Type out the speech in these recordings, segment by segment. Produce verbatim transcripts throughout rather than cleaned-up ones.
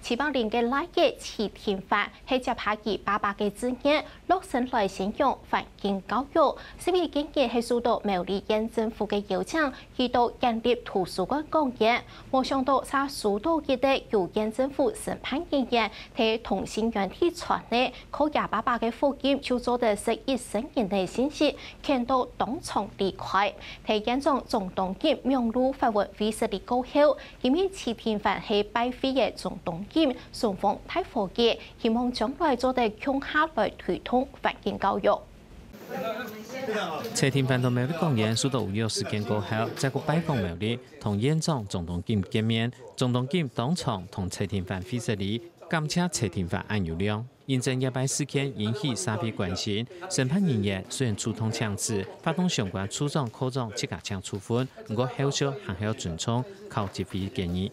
徐百林个倈仔徐廷範係接下佢爸爸个志業，落身來宣揚環境教育。徐百林今年係受到苗栗縣政府个邀請，去到縣立圖書館講演，無想到煞收到一個由縣政府承辦人員在同心圓底傳个，靠厥爸爸个福音就做得食一生人个信息，譴到當場離開。在縣長鍾東錦網路發文會失禮過後， 今日徐廷範係拜會个鍾東錦、松鳳大伙計，希望將來做得共下來推動環境教育。徐廷範到苗栗講演，受到預約時間過後，再過拜訪苗栗，同縣長鍾東錦見面。鍾東錦當場同徐廷範會失禮，感謝徐廷範恁有量。 因為這擺事件引起社會關心，承辦人員雖然主動請辭，發動相關處長、科長自家請處分，毋過後續還係愛尊重考執會建議。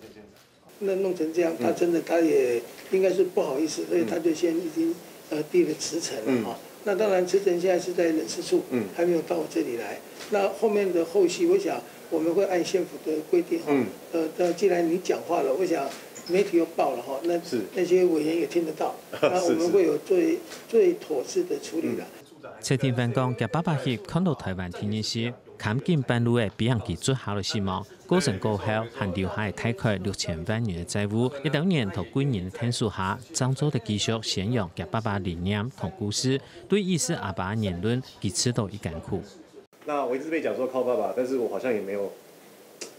那弄成這樣，他真的他也應該是不好意思，所以他就先已經呃遞了辭呈了哈。那當然辭呈現在是在人事處，還沒有到我這裡來。那後面的後續，我想我們會按縣府的規定哈，呃，那既然你講話了，我想媒體又報了哈，那那些委員也聽得到，那我們會有最最妥適的處理的。徐廷範講，厥爸爸翕看到臺灣第二集，看緊半路仔分人追逐下來死亡，過身過後還留下大概六千萬元个債務，一兜人在貴人个𢯭手下，正做得繼續宣揚厥爸爸理念同故事，對於徐阿爸言論，佢試著已艱苦。 那我一直被講說靠爸爸，但是我好像也沒有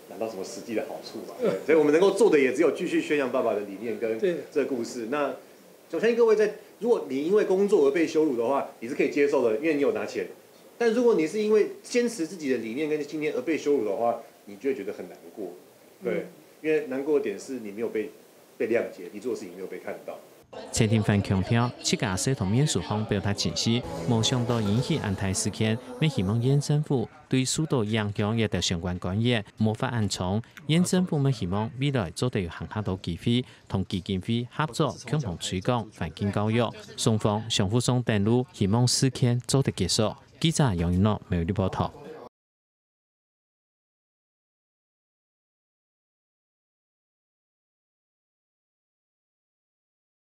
拿到什麼實際的好處嘛。對，所以我們能夠做的也只有繼續宣揚爸爸的理念跟這個故事。那我相信各位在，如果你因為工作而被羞辱的話，你是可以接受的，因為你有拿錢。但如果你是因為堅持自己的理念跟信念而被羞辱的話，你就會覺得很難過。對，因為難過的點是你沒有被被諒解，你做的事情沒有被看到。徐廷範強調，自家係在面書項表達情緒，無想到引起恁大事件，乜希望縣政府對受到影響个相關官員無法恁衝。縣政府乜希望未來做得有還較多機會，同基金會合作，共同推廣環境教育，雙方相互送等路，希望事件做得結束。記者楊一諾，苗栗報導。